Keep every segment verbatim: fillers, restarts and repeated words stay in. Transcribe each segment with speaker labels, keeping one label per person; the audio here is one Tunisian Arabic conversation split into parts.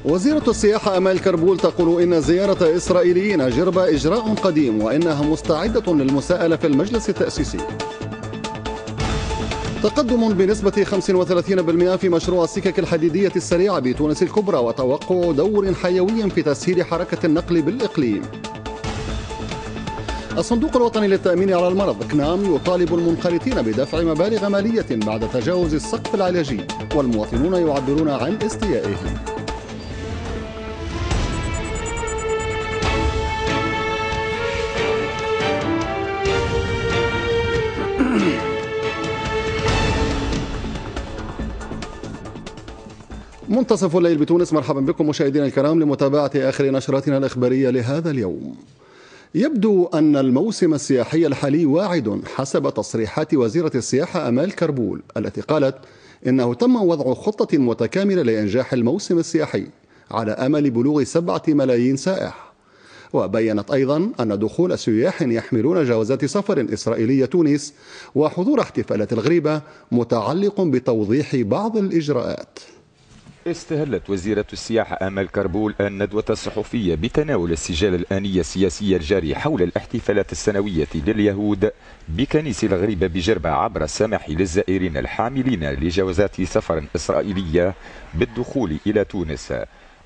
Speaker 1: وزيرة السياحة أمال كربول تقول إن زيارة إسرائيليين جربة إجراء قديم وإنها مستعدة للمساءلة في المجلس التأسيسي. تقدم بنسبة خمسة وثلاثين بالمئة في مشروع السكك الحديدية السريعة بتونس الكبرى وتوقع دور حيوي في تسهيل حركة النقل بالإقليم. الصندوق الوطني للتأمين على المرض كنام يطالب المنخرطين بدفع مبالغ مالية بعد تجاوز السقف العلاجي، والمواطنون يعبرون عن استيائهم. منتصف الليل بتونس، مرحبا بكم مشاهدينا الكرام لمتابعة آخر نشراتنا الإخبارية لهذا اليوم. يبدو أن الموسم السياحي الحالي واعد حسب تصريحات وزيرة السياحة أمال كربول التي قالت إنه تم وضع خطة متكاملة لإنجاح الموسم السياحي على أمل بلوغ سبعة ملايين سائح. وبينت أيضا أن دخول سياح يحملون جوازات سفر إسرائيلية تونس وحضور احتفالات الغريبة متعلق بتوضيح بعض الإجراءات.
Speaker 2: استهلت وزيرة السياحة آمال كربول الندوة الصحفية بتناول السجال الآنية السياسية الجاري حول الاحتفالات السنوية لليهود بكنيس الغريبة بجربة عبر السماح للزائرين الحاملين لجوازات سفر إسرائيلية بالدخول إلى تونس،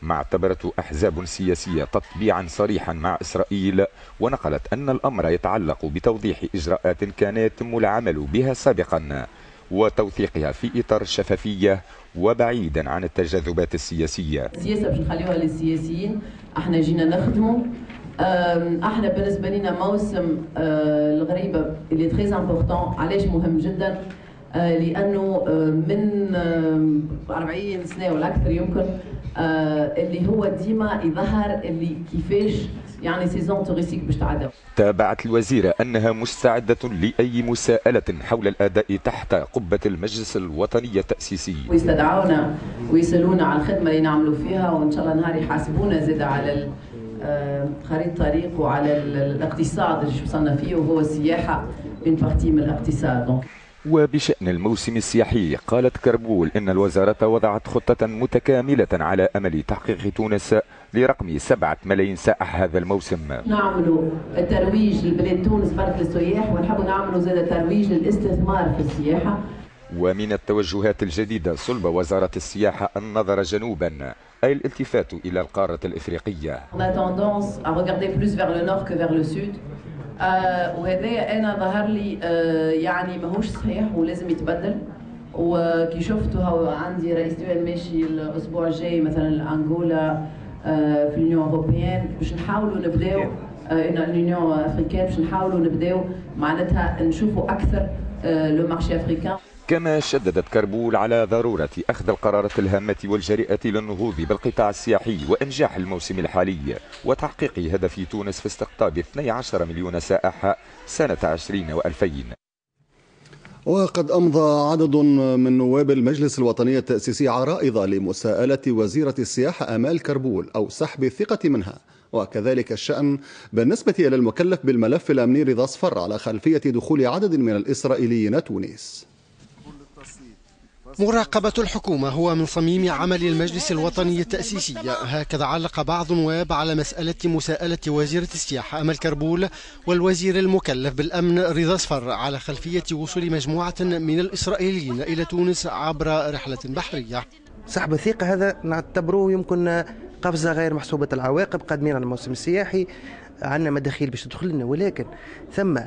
Speaker 2: ما اعتبرته أحزاب سياسية تطبيعا صريحا مع إسرائيل، ونقلت أن الأمر يتعلق بتوضيح إجراءات كان يتم العمل بها سابقا وتوثيقها في إطار الشفافية وبعيدا عن التجاذبات السياسية.
Speaker 3: السياسة باش نخليوها للسياسيين، احنا جينا نخدموا. احنا بالنسبة لنا موسم الغريبة اللي très important، علاش مهم جدا؟ لأنه من أربعين سنة ولا أكثر يمكن اللي هو ديما يظهر اللي كيفاش يعني saison touristique باش تعدى.
Speaker 2: تابعت الوزيرة أنها مستعدة لأي مساءلة حول الأداء تحت قبة المجلس الوطني التأسيسي.
Speaker 3: ويستدعونا ويسألونا على الخدمة اللي نعملوا فيها، وإن شاء الله نهار يحاسبونا زاد على خريطة الطريق وعلى الاقتصاد اللي وصلنا فيه، وهو السياحة une partie من الاقتصاد.
Speaker 2: وبشأن الموسم السياحي قالت كربول إن الوزارة وضعت خطة متكاملة على أمل تحقيق تونس لرقم سبعة ملايين سائح هذا الموسم.
Speaker 3: نعملوا الترويج لبلاد تونس برك للسياح، ونحبوا نعملوا زاد ترويج للاستثمار في السياحة.
Speaker 2: ومن التوجهات الجديدة صلب وزارة السياحة النظر جنوبا، أي الالتفات إلى القارة الإفريقية.
Speaker 3: On a tendance à regarder plus vers le nord que vers le sud. آه وهذا انا ظهر لي آه يعني ماهوش صحيح ولازم يتبدل. وكي شفته هو عندي رئيس دول ماشي الاسبوع الجاي مثلا لانغولا آه في l'Union européenne باش نحاولوا نبداو آه l'Union africaine باش نحاولوا نبداو معناتها نشوفوا اكثر آه le marché africain.
Speaker 2: كما شددت كربول على ضرورة أخذ القرارات الهامة والجريئة للنهوض بالقطاع السياحي وإنجاح الموسم الحالي وتحقيق هدف تونس في استقطاب اثني عشر مليون سائح سنة عشرين وألفين.
Speaker 1: وقد أمضى عدد من نواب المجلس الوطني التأسيسي عرائض لمساءلة وزيرة السياحة آمال كربول أو سحب الثقة منها، وكذلك الشأن بالنسبة إلى المكلف بالملف الأمني رضا صفر على خلفية دخول عدد من الإسرائيليين تونس.
Speaker 4: مراقبة الحكومة هو من صميم عمل المجلس الوطني التأسيسي، هكذا علق بعض النواب على مسألة مساءلة وزيرة السياحة أمل كربول والوزير المكلف بالأمن رضا صفر على خلفية وصول مجموعة من الإسرائيليين إلى تونس عبر رحلة بحرية.
Speaker 5: سحب الثقة هذا نعتبروه يمكن قفزة غير محسوبة العواقب، قادمين على الموسم السياحي، عندنا مداخيل باش تدخل لنا، ولكن ثم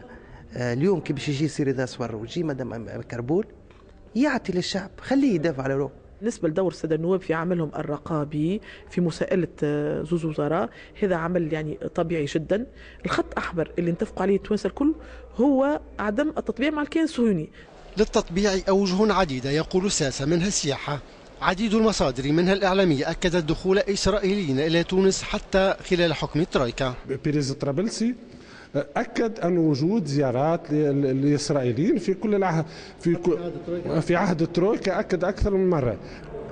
Speaker 5: اليوم كي باش يجي سي رضا صفر ويجي مدام أمل كربول يعطي للشعب، خليه يدافع على روحه.
Speaker 6: بالنسبة لدور السادة النواب في عملهم الرقابي في مساءلة زوز وزراء، هذا عمل يعني طبيعي جدا. الخط أحمر اللي انتفقوا عليه التوانسة الكل هو عدم التطبيع مع الكيان الصهيوني.
Speaker 4: للتطبيع أوجه عديدة يقول الساسة، منها السياحة. عديد المصادر منها الإعلامية أكدت دخول إسرائيليين إلى تونس حتى خلال حكم الترويكا.
Speaker 7: بيريز طرابلسي أكد أن وجود زيارات للإسرائيليين في كل العهد، في كل في عهد الترويكا أكد أكثر من مرة.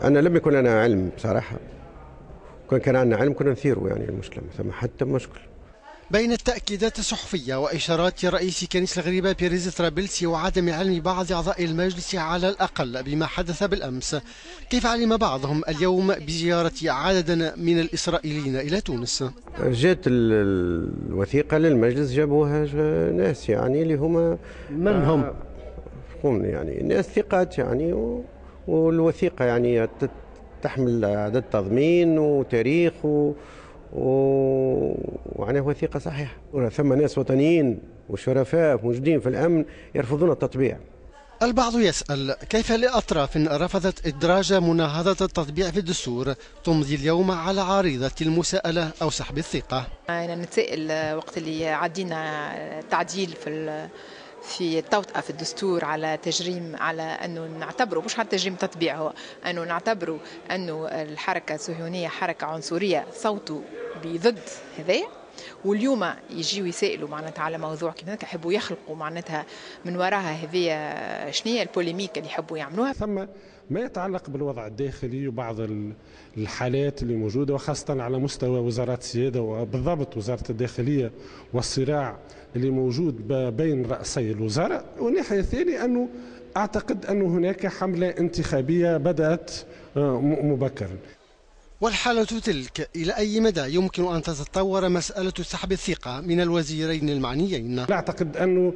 Speaker 8: أنا لم يكن لنا علم بصراحة، كان كان عندنا علم كنا نثيره يعني المشكلة، ثم حتى مشكل.
Speaker 4: بين التأكيدات الصحفية وإشارات رئيس كنيس الغريبة بيريز طرابلسي وعدم علم بعض أعضاء المجلس على الأقل بما حدث بالأمس، كيف علم بعضهم اليوم بزيارة عدد من الإسرائيليين إلى تونس؟
Speaker 8: جات الوثيقة للمجلس، جابوها ناس يعني اللي هما
Speaker 4: من هم؟
Speaker 8: يعني ناس ثقات يعني، والوثيقة يعني تحمل عدد تضمين وتاريخ و ومعناه وثيقة صحيحة. ثم ناس وطنيين وشرفاء موجودين في الأمن يرفضون التطبيع.
Speaker 4: البعض يسأل كيف لأطراف رفضت إدراج مناهضة التطبيع في الدستور تمضي اليوم على عارضة المساءلة أو سحب الثقة؟
Speaker 9: أنا نتساءل وقت اللي عدينا تعديل في في التوطئة في الدستور على تجريم، على أنه نعتبره مش على تجريم تطبيع، هو أنه نعتبره أنه الحركة الصهيونية حركة عنصرية، صوتوا بضد هذا، واليوم يجيو يسائلوا معناتها على موضوع كيما هكا، يحبوا يخلقوا معناتها من وراها هذه شنية ال polémique اللي يحبوا يعملوها.
Speaker 7: ثم ما يتعلق بالوضع الداخلي وبعض الحالات اللي موجودة، وخاصة على مستوى وزارات السيادة وبالضبط وزارة الداخلية والصراع اللي موجود بين رأسي الوزراء. والناحية الثانية أنه أعتقد أن هناك حملة انتخابية بدأت مبكرا.
Speaker 4: والحالة تلك إلى أي مدى يمكن أن تتطور مسألة سحب الثقة من الوزيرين المعنيين؟
Speaker 7: لا أعتقد أنه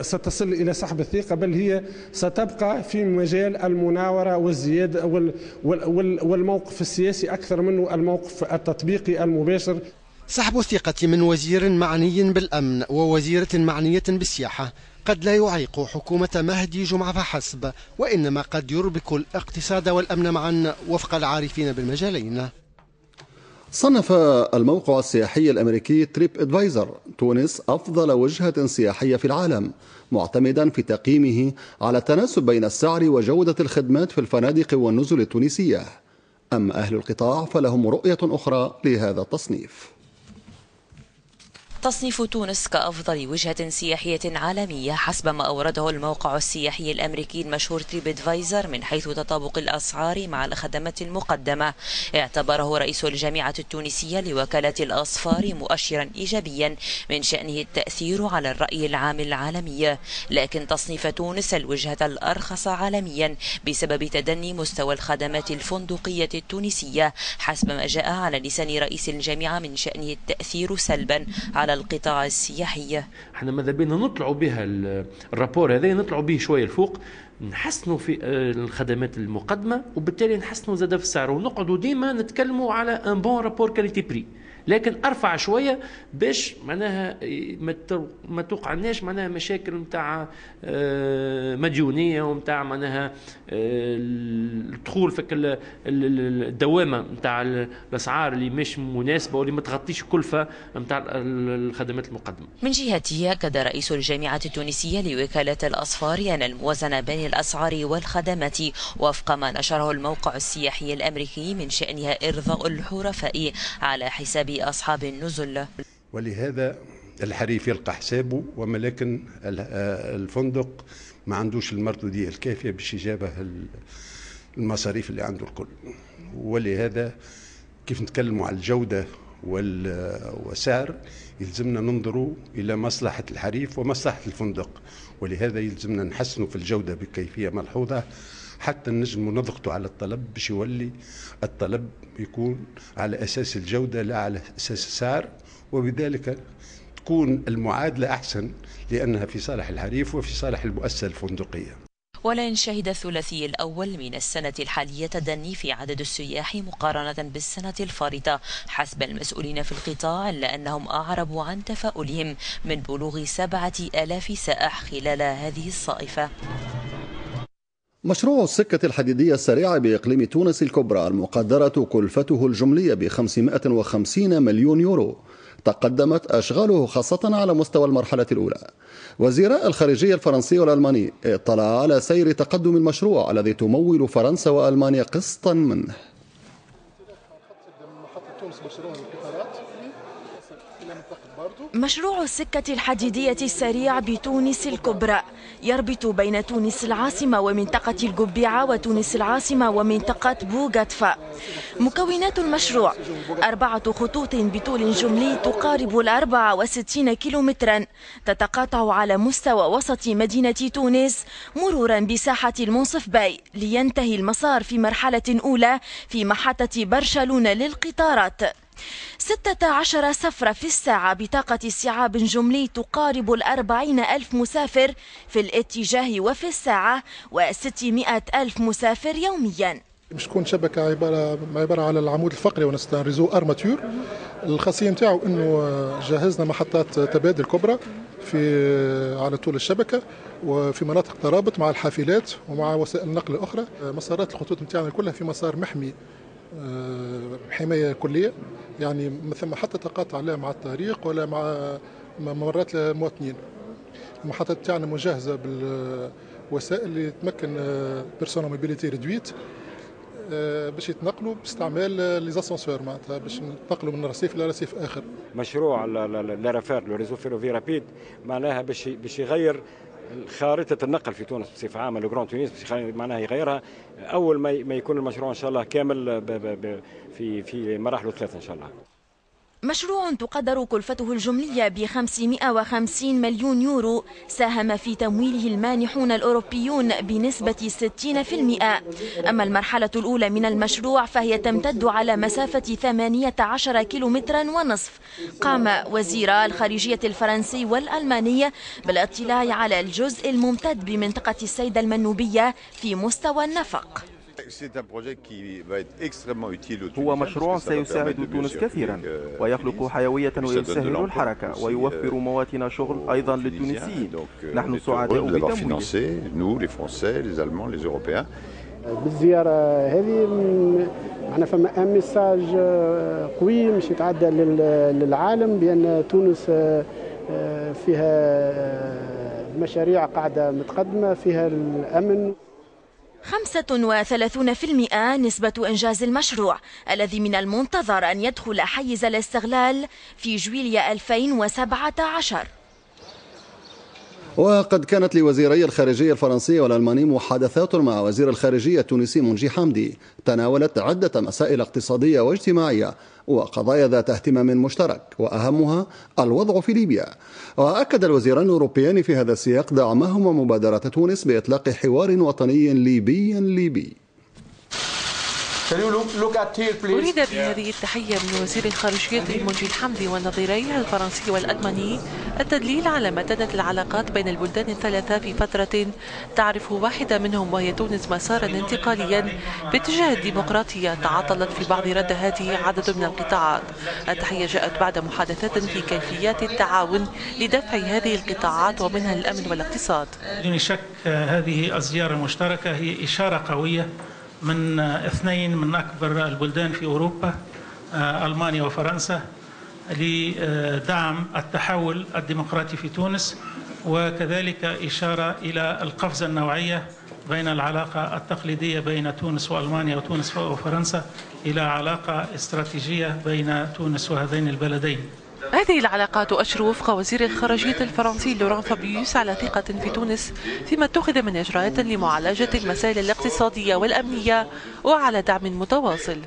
Speaker 7: ستصل إلى سحب الثقة، بل هي ستبقى في مجال المناورة والزيادة والموقف السياسي أكثر منه الموقف التطبيقي المباشر.
Speaker 4: سحب الثقة من وزير معني بالأمن ووزيرة معنية بالسياحة قد لا يعيق حكومة مهدي جمعة فحسب، وإنما قد يربك الاقتصاد والأمن معا وفق العارفين بالمجالين.
Speaker 1: صنف الموقع السياحي الأمريكي تريب ادفايزر تونس أفضل وجهة سياحية في العالم، معتمدا في تقييمه على التناسب بين السعر وجودة الخدمات في الفنادق والنزل التونسية. أما أهل القطاع فلهم رؤية أخرى لهذا التصنيف.
Speaker 10: تصنيف تونس كأفضل وجهة سياحية عالمية حسب ما أورده الموقع السياحي الأمريكي المشهور تريب ادفايزر من حيث تطابق الأسعار مع الخدمات المقدمة، اعتبره رئيس الجامعة التونسية لوكالة الأسفار مؤشرا إيجابيا من شأنه التأثير على الرأي العام العالمي. لكن تصنيف تونس الوجهة الأرخص عالميا بسبب تدني مستوى الخدمات الفندقية التونسية حسب ما جاء على لسان رئيس الجامعة من شأنه التأثير سلبا على القطاع السياحي.
Speaker 11: احنا ماذا بينا نطلعوا بها ال rapport هذا، نطلعوا به شوية الفوق، نحسنوا في الخدمات المقدمة وبالتالي نحسنوا زاد في السعر، ونقعدوا ديما نتكلموا على un bon rapport qualité prix، لكن ارفع شوية باش معناها ما توقعناش معناها مشاكل نتاع مديونية ونتاع معناها الدخول في الدوامة نتاع الاسعار اللي مش مناسبة واللي ما تغطيش الكلفة نتاع الخدمات المقدمة.
Speaker 10: من جهته اكد رئيس الجامعة التونسية لوكالة الاسفار ان الموازنة بين الاسعار والخدمات وفق ما نشره الموقع السياحي الامريكي من شانها ارضاء الحرفاء على حساب أصحاب النزل.
Speaker 12: ولهذا الحريف يلقى حسابه، ولكن الفندق ما عندوش المردودية الكافية باش يجابه المصاريف اللي عنده الكل. ولهذا كيف نتكلموا على الجودة والسعر يلزمنا ننظروا إلى مصلحة الحريف ومصلحة الفندق، ولهذا يلزمنا نحسنوا في الجودة بكيفية ملحوظة حتى نجموا نضغطوا على الطلب باش يولي الطلب يكون على أساس الجودة لا على أساس السعر، وبذلك تكون المعادلة أحسن لأنها في صالح الحريف وفي صالح المؤسسة الفندقية.
Speaker 10: ولن شهد الثلاثي الأول من السنة الحالية تدني في عدد السياح مقارنة بالسنة الفارطة حسب المسؤولين في القطاع، إلا أنهم أعربوا عن تفاؤلهم من بلوغ سبعة آلاف سائح خلال هذه الصائفة.
Speaker 1: مشروع السكة الحديدية السريعة بإقليم تونس الكبرى المقدرة كلفته الجملية ب خمسمائة وخمسين مليون يورو تقدمت أشغاله خاصة على مستوى المرحلة الأولى. وزيراء الخارجية الفرنسي والألماني اطلعا على سير تقدم المشروع الذي تمول فرنسا وألمانيا قسطا منه.
Speaker 13: إلى منطقة باردو.
Speaker 14: مشروع السكة الحديدية السريع بتونس الكبرى يربط بين تونس العاصمة ومنطقة القبيعة وتونس العاصمة ومنطقة بوغاتفا. مكونات المشروع أربعة خطوط بطول جملي تقارب الأربعة وستين كيلومترا، تتقاطع على مستوى وسط مدينة تونس مرورا بساحة المنصف باي، لينتهي المسار في مرحلة أولى في محطة برشلونة للقطارات. ستة عشر سفرة في الساعة بطاقة استيعاب جملي تقارب الأربعين ألف مسافر في الاتجاه وفي الساعة، وستمائة ألف مسافر يوميا.
Speaker 13: باش تكون شبكة عبارة عبارة على العمود الفقري ونستان réseau armature. الخاصية نتاعو انه جهزنا محطات تبادل كبرى في على طول الشبكة وفي مناطق ترابط مع الحافلات ومع وسائل النقل الأخرى. مسارات الخطوط نتاعنا كلها في مسار محمي حماية كلية، يعني ما ثم حتى تقاطع لا مع الطريق ولا مع ممرات المواطنين. المحطات تاعنا مجهزة بالوسائل اللي تمكن personnes à mobilité réduite باش يتنقلوا باستعمال les ascenseurs، معناتها باش يتنقلوا من رصيف الى رصيف اخر.
Speaker 15: مشروع ال R F R، le réseau ferroviaire rapide، معناها باش باش يغير خارطة النقل في تونس بصفة عامة، le Grand Tunis معناها يغيرها أول ما يكون المشروع إن شاء الله كامل في في مراحله الثلاثة إن شاء الله.
Speaker 14: مشروع تقدر كلفته الجملية ب خمسمائة وخمسين مليون يورو، ساهم في تمويله المانحون الأوروبيون بنسبة ستين بالمئة. أما المرحلة الأولى من المشروع فهي تمتد على مسافة ثمانية عشر كيلومترا ونصف. قام وزيرا الخارجية الفرنسي والألماني بالاطلاع على الجزء الممتد بمنطقة السيدة المنوبية في مستوى النفق.
Speaker 16: هو مشروع سيساعد تونس كثيرا ويخلق حيوية ويسهل الحركة ويوفر مواطن شغل أيضا للتونسيين. نحن سعداء بتمويله.
Speaker 17: بالزيارة هذه معنا فما un message قوي مش يتعدى للعالم بأن تونس فيها مشاريع قاعدة متقدمة، فيها الأمن.
Speaker 14: خمسة وثلاثون بالمئة نسبة إنجاز المشروع الذي من المنتظر أن يدخل حيز الاستغلال في جويلية ألفين وسبعة عشر.
Speaker 1: وقد كانت لوزيري الخارجية الفرنسي والألماني محادثات مع وزير الخارجية التونسي منجي حمدي تناولت عدة مسائل اقتصادية واجتماعية وقضايا ذات اهتمام مشترك، وأهمها الوضع في ليبيا. وأكد الوزيران الأوروبيان في هذا السياق دعمهما مبادرة تونس بإطلاق حوار وطني ليبي ليبي.
Speaker 18: أريد بهذه التحية من وزير الخارجية المنجي الحمدي ونظيريه الفرنسي والألماني التدليل على متانة العلاقات بين البلدان الثلاثة في فترة تعرف واحدة منهم وهي تونس مسارا انتقاليا باتجاه الديمقراطية تعطلت في بعض ردهاته عدد من القطاعات. التحية جاءت بعد محادثات في كيفيات التعاون لدفع هذه القطاعات ومنها الأمن والاقتصاد.
Speaker 19: بدون شك هذه الزيارة المشتركة هي إشارة قوية من اثنين من أكبر البلدان في أوروبا، ألمانيا وفرنسا، لدعم التحول الديمقراطي في تونس، وكذلك إشارة إلى القفزة النوعية بين العلاقة التقليدية بين تونس وألمانيا وتونس وفرنسا إلى علاقة استراتيجية بين تونس وهذين البلدين.
Speaker 18: هذه العلاقات تؤشر وفق وزير الخارجية الفرنسي لوران فابيوس على ثقة في تونس فيما اتخذ من إجراءات لمعالجة المسائل الاقتصادية والأمنية وعلى دعم متواصل.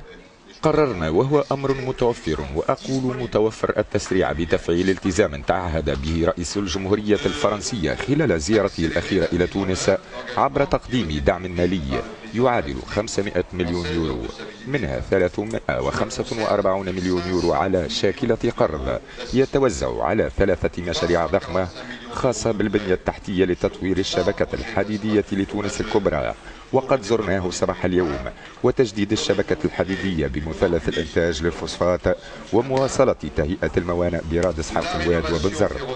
Speaker 2: قررنا وهو أمر متوفر وأقول متوفر التسريع بتفعيل التزام تعهد به رئيس الجمهورية الفرنسية خلال زيارته الأخيرة إلى تونس عبر تقديم دعم مالي يعادل خمسمائة مليون يورو، منها ثلاثمائة وخمسة وأربعين مليون يورو على شاكلة قرض يتوزع على ثلاثة مشاريع ضخمة خاصة بالبنية التحتية لتطوير الشبكة الحديدية لتونس الكبرى، وقد زرناه صباح اليوم، وتجديد الشبكة الحديدية بمثلث الإنتاج للفوسفات ومواصلة تهيئة الموانئ برادس حلق الواد وبنزرت.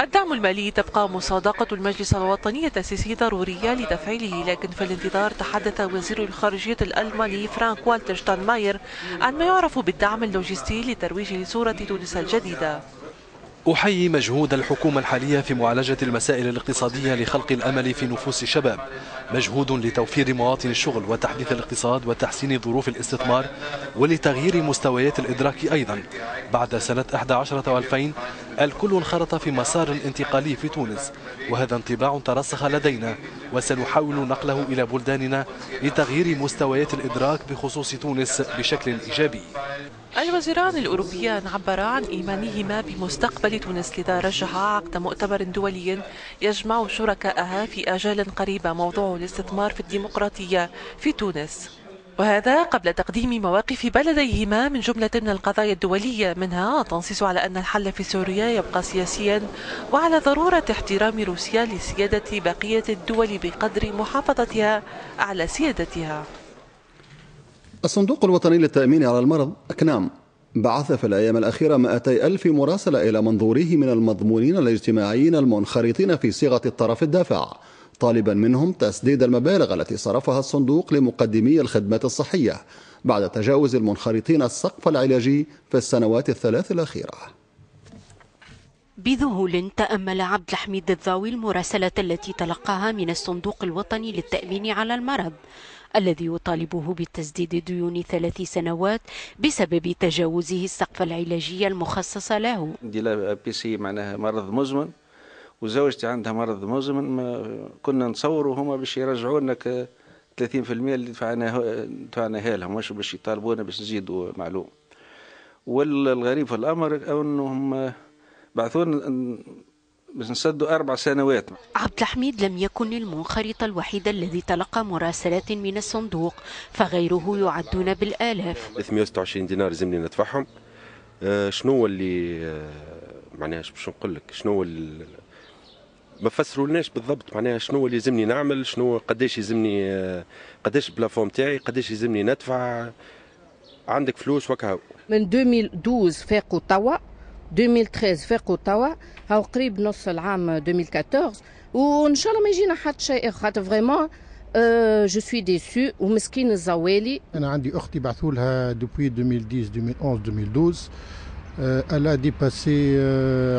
Speaker 18: الدعم المالي تبقى مصادقة المجلس الوطني التأسيسي ضرورية لتفعيله، لكن في الانتظار تحدث وزير الخارجية الألماني فرانك والتر شتاينماير عن ما يعرف بالدعم اللوجستي لترويج لصورة تونس الجديدة.
Speaker 20: أحيي مجهود الحكومة الحالية في معالجة المسائل الاقتصادية لخلق الأمل في نفوس الشباب. مجهود لتوفير مواطن الشغل وتحديث الاقتصاد وتحسين ظروف الاستثمار ولتغيير مستويات الإدراك أيضا. بعد سنة أحد عشر وألفين الكل انخرط في مسار انتقالي في تونس، وهذا انطباع ترسخ لدينا وسنحاول نقله إلى بلداننا لتغيير مستويات الإدراك بخصوص تونس بشكل إيجابي.
Speaker 18: الوزيران الأوروبيان عبرا عن إيمانهما بمستقبل تونس، لذا رجحا عقد مؤتمر دولي يجمع شركاءها في آجال قريبة موضوع الاستثمار في الديمقراطية في تونس، وهذا قبل تقديم مواقف بلديهما من جملة من القضايا الدولية، منها التنصيص على أن الحل في سوريا يبقى سياسيا وعلى ضرورة احترام روسيا لسيادة بقية الدول بقدر محافظتها على سيادتها.
Speaker 1: الصندوق الوطني للتأمين على المرض أكنام بعث في الأيام الأخيرة مئتي ألف مراسلة إلى منظوريه من المضمونين الاجتماعيين المنخرطين في صيغة الطرف الدافع، طالبا منهم تسديد المبالغ التي صرفها الصندوق لمقدمي الخدمات الصحية بعد تجاوز المنخرطين السقف العلاجي في السنوات الثلاث الأخيرة.
Speaker 21: بذهول تأمل عبد الحميد الضاوي المراسلة التي تلقاها من الصندوق الوطني للتأمين على المرض الذي يطالبه بتسديد ديون ثلاث سنوات بسبب تجاوزه السقف العلاجي المخصص له.
Speaker 22: عندي l'APC معناها مرض مزمن وزوجتي عندها مرض مزمن، ما كنا نتصوروا هما باش يرجعوا لنا ثلاثين بالمئة اللي دفعناها دفعناها لهم، مش باش يطالبونا باش نزيدوا معلوم. والغريب في الامر انهم بعثونا باش نسدوا أربع سنوات.
Speaker 21: عبد الحميد لم يكن المنخرط الوحيد الذي تلقى مراسلات من الصندوق، فغيره يعدون بالآلاف.
Speaker 23: ثلاثمئة وستة وعشرين دينار لازمني ندفعهم. آه شنو اللي آه معناها باش نقول لك شنو اللي ما فسرولناش بالضبط، معناها شنو اللي لازمني نعمل، شنو قداش يلزمني، آه قداش ال plafond تاعي، قداش يلزمني ندفع. عندك فلوس وكهو.
Speaker 24: من ألفين واثنا عشر فاقوا توا، ألفين وثلاثة عشر فاقوا توا، هاو قريب نص العام ألفين وأربعة عشر، وان شاء الله ما يجينا حتى شيء، خاطر vraiment je suis déçue ومسكين الزوالي.
Speaker 25: انا عندي اختي بعثوا لها depuis ألفين وعشرة ألفين وأحد عشر ألفين واثنا عشر، elle a dépassé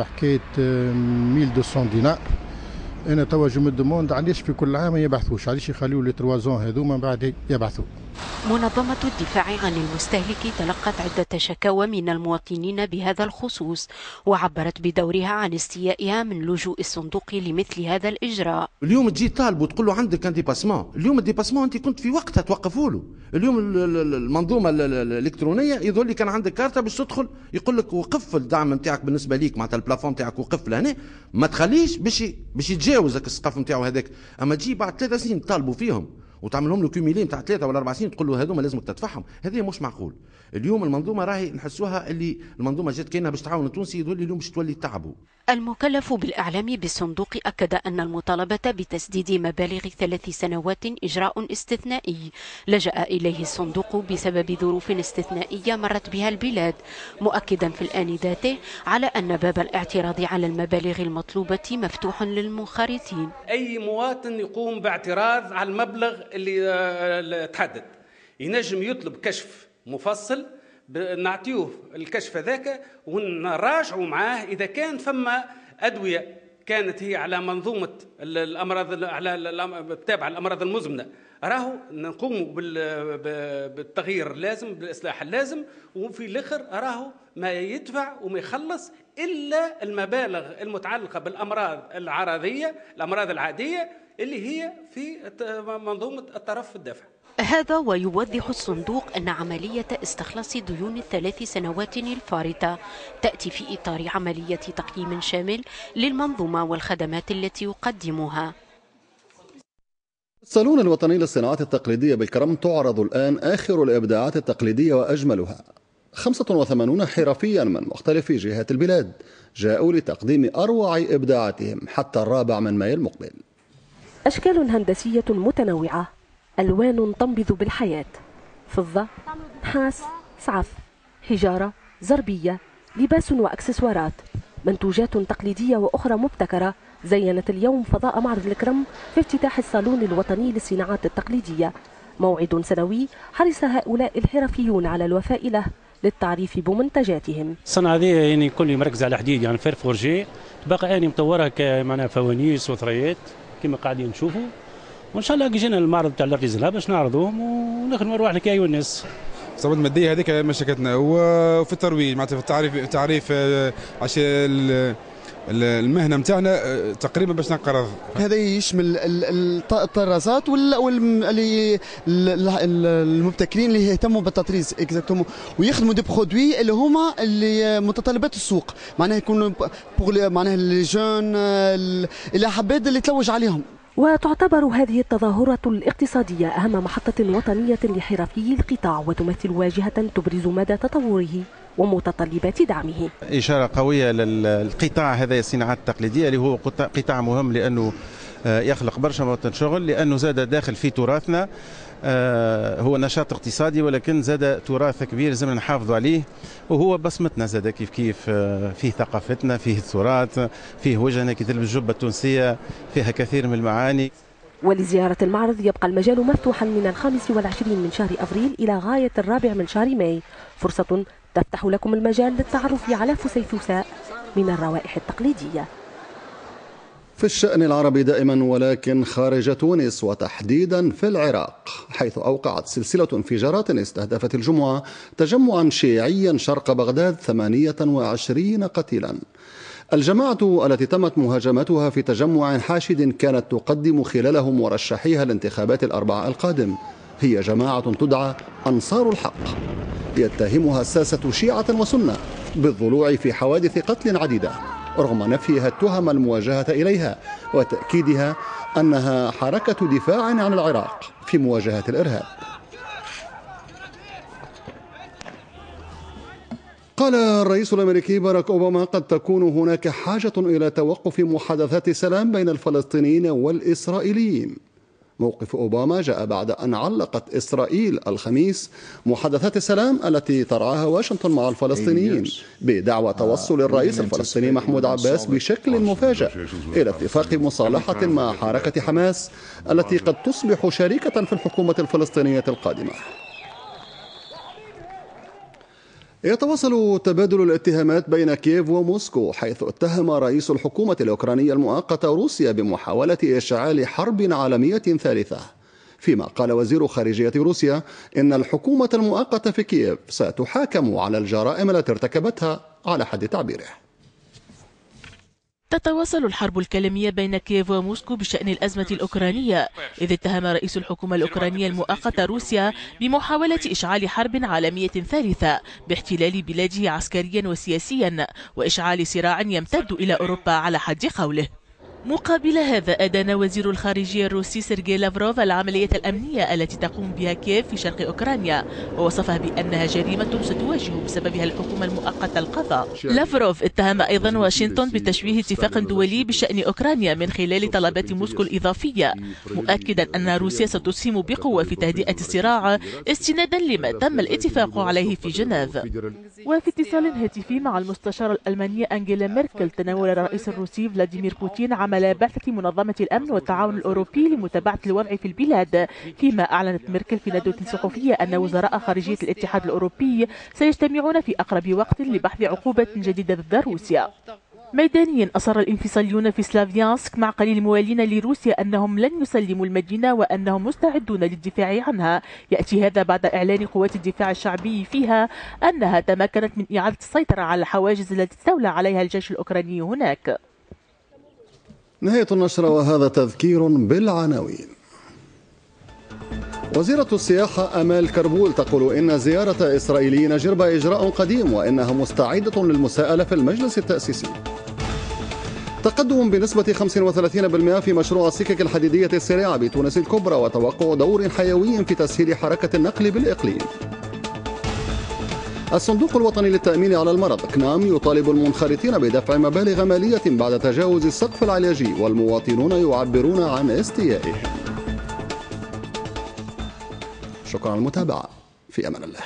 Speaker 25: حكاية ألف ومئتين دينار. انا توا je me demande علاش في كل عام ما يبعثوش، علاش يخليو les trois ans هذوما بعد يبعثوا.
Speaker 21: منظمة الدفاع عن المستهلك تلقت عدة شكاوى من المواطنين بهذا الخصوص، وعبرت بدورها عن استيائها من لجوء الصندوق لمثل هذا الإجراء.
Speaker 26: اليوم تجي طالب وتقول له عندك un dépassement، اليوم ال dépassement انت كنت في وقتها توقفوا له. اليوم المنظومة الإلكترونية يظهر لي كان عندك كارتة باش تدخل يقول لك وقف الدعم نتاعك بالنسبة ليك، معناتها ال plafond نتاعك وقف لهنا، ما تخليش باش باش يتجاوزك السقف نتاعو هذاك. اما تجي بعد ثلاث سنين تطالبوا فيهم وتعملهم له cumulé نتاع ثلاثة ولا اربع سنين تقول له هذوما لازمك تدفعهم، هذا مش معقول. اليوم المنظومة راهي نحسوها اللي المنظومة جات كاينه باش تعاون التونسي، يقول لي اليوم باش تولي تعبوا.
Speaker 21: المكلف بالاعلام بالصندوق اكد ان المطالبة بتسديد مبالغ ثلاث سنوات اجراء استثنائي لجأ اليه الصندوق بسبب ظروف استثنائية مرت بها البلاد، مؤكدا في الان ذاته على ان باب الاعتراض على المبالغ المطلوبة مفتوح للمنخرطين.
Speaker 27: اي مواطن يقوم باعتراض على المبلغ اللي تحدد ينجم يطلب كشف مفصل، نعطيوه الكشف هذاك ونراجعوا معاه اذا كان فما ادوية كانت هي على منظومة الامراض على التابعة الامراض المزمنة، راهو نقوموا بالتغيير اللازم بالاصلاح اللازم، وفي الاخر راهو ما يدفع وما يخلص الا المبالغ المتعلقة بالامراض العرضية الامراض العادية اللي هي في منظومة الطرف الدافع.
Speaker 21: هذا ويوضح الصندوق أن عملية استخلاص ديون الثلاث سنوات الفارطة تأتي في إطار عملية تقييم شامل للمنظومة والخدمات التي يقدمها.
Speaker 1: الصالون الوطني للصناعات التقليدية بالكرم تعرض الآن آخر الإبداعات التقليدية وأجملها. خمسة وثمانون حرفيا من مختلف جهات البلاد جاءوا لتقديم أروع إبداعاتهم حتى الرابع من مايو المقبل.
Speaker 28: أشكال هندسية متنوعة، ألوان تنبض بالحياة، فضة، نحاس، سعف، حجارة، زربية، لباس وأكسسوارات، منتوجات تقليدية وأخرى مبتكرة زينت اليوم فضاء معرض الكرم في افتتاح الصالون الوطني للصناعات التقليدية. موعد سنوي حرص هؤلاء الحرفيون على الوفاء له للتعريف بمنتجاتهم.
Speaker 29: الصنعة هذه يعني كل مركز على حديد، يعني fer forgé، بقى أنا مطورها كمعناها فوانيس وثريات كما قاعدين نشوفوا، وان شاء الله كي جينا المعرض تاع l'artisanat باش نعرضوهم ونخدموا رواحنا كي الناس.
Speaker 3: الصعوبات المادية هذيك مشاكلتنا، وفي الترويج معناتها في التعريف التعريف عشان المهنة نتاعنا تقريبا باش ننقرض.
Speaker 4: هذا يشمل الطرازات واللي المبتكرين اللي يهتموا بالتطريز exactement ويخدموا des produits اللي هما اللي متطلبات السوق، معناها يكونوا معناها les jeunes اللي حبيت اللي تلوج عليهم.
Speaker 28: وتعتبر هذه التظاهرة الاقتصادية أهم محطة وطنية لحرفي القطاع، وتمثل واجهة تبرز مدى تطوره ومتطلبات دعمه.
Speaker 5: إشارة قوية للقطاع هذا الصناعات التقليدية اللي هو قطاع مهم لأنه يخلق برشا مواطن شغل، لأنه زاد داخل في تراثنا، هو نشاط اقتصادي ولكن زاد تراث كبير لازم نحافظوا عليه، وهو بصمتنا زاد كيف كيف فيه ثقافتنا، فيه التراث، فيه وجهنا كي تلبس الجبة التونسية فيها كثير من المعاني.
Speaker 28: ولزيارة المعرض يبقى المجال مفتوحا من الخامس والعشرين من شهر أفريل إلى غاية الرابع من شهر ماي، فرصة تفتح لكم المجال للتعرف على فسيفساء من الروائح التقليدية.
Speaker 1: في الشأن العربي دائما ولكن خارج تونس وتحديدا في العراق، حيث أوقعت سلسلة انفجارات استهدفت الجمعة تجمعا شيعيا شرق بغداد ثمانية وعشرين قتيلا. الجماعة التي تمت مهاجمتها في تجمع حاشد كانت تقدم خلاله مرشحيها الانتخابات الأربعاء القادم هي جماعة تدعى أنصار الحق، يتهمها الساسة شيعة وسنة بالضلوع في حوادث قتل عديدة رغم نفيها التهم المواجهة إليها وتأكيدها أنها حركة دفاع عن العراق في مواجهة الإرهاب. قال الرئيس الأمريكي باراك أوباما قد تكون هناك حاجة إلى توقف محادثات سلام بين الفلسطينيين والإسرائيليين. موقف أوباما جاء بعد أن علقت إسرائيل الخميس محادثات السلام التي ترعاها واشنطن مع الفلسطينيين بدعوى توصل الرئيس الفلسطيني محمود عباس بشكل مفاجئ إلى اتفاق مصالحة مع حركة حماس التي قد تصبح شريكة في الحكومة الفلسطينية القادمة. يتواصل تبادل الاتهامات بين كييف وموسكو، حيث اتهم رئيس الحكومة الأوكرانية المؤقتة روسيا بمحاولة إشعال حرب عالمية ثالثة، فيما قال وزير خارجية روسيا إن الحكومة المؤقتة في كييف ستحاكم على الجرائم التي ارتكبتها على حد تعبيره.
Speaker 18: تتواصل الحرب الكلامية بين كييف وموسكو بشأن الأزمة الأوكرانية، إذ اتهم رئيس الحكومة الأوكرانية المؤقتة روسيا بمحاولة إشعال حرب عالمية ثالثة باحتلال بلاده عسكريا وسياسيا وإشعال صراع يمتد إلى أوروبا على حد قوله. مقابل هذا أدان وزير الخارجية الروسي سيرجي لافروف العملية الأمنية التي تقوم بها كييف في شرق أوكرانيا، ووصفها بأنها جريمة ستواجه بسببها الحكومة المؤقتة القضاء. لافروف اتهم أيضا واشنطن بتشويه اتفاق دولي بشأن أوكرانيا من خلال طلبات موسكو الإضافية، مؤكدا أن روسيا ستسهم بقوة في تهدئة الصراع استنادا لما تم الاتفاق عليه في جنيف. وفي اتصال هاتفي مع المستشارة الألمانية أنجيلا ميركل، تناول الرئيس الروسي فلاديمير بوتين عمل بعثة منظمة الأمن والتعاون الأوروبي لمتابعة الوضع في البلاد، فيما أعلنت ميركل في ندوة صحفية أن وزراء خارجية الاتحاد الأوروبي سيجتمعون في أقرب وقت لبحث عقوبة جديدة ضد روسيا. ميدانيا أصر الانفصاليون في سلافيانسك مع قليل الموالين لروسيا أنهم لن يسلموا المدينة وأنهم مستعدون للدفاع عنها. يأتي هذا بعد إعلان قوات الدفاع الشعبي فيها أنها تمكنت من إعادة السيطرة على الحواجز التي استولى عليها الجيش الأوكراني هناك.
Speaker 1: نهاية النشرة وهذا تذكير بالعناوين. وزيرة السياحة أمال كربول تقول إن زيارة إسرائيليين جربة إجراء قديم وإنها مستعدة للمساءلة في المجلس التأسيسي. تقدم بنسبة خمسة وثلاثين بالمئة في مشروع السكك الحديدية السريعة بتونس الكبرى وتوقع دور حيوي في تسهيل حركة النقل بالإقليم. الصندوق الوطني للتأمين على المرض كنام يطالب المنخرطين بدفع مبالغ مالية بعد تجاوز السقف العلاجي والمواطنون يعبرون عن استيائهم. شكرا على المتابعة، في أمان الله.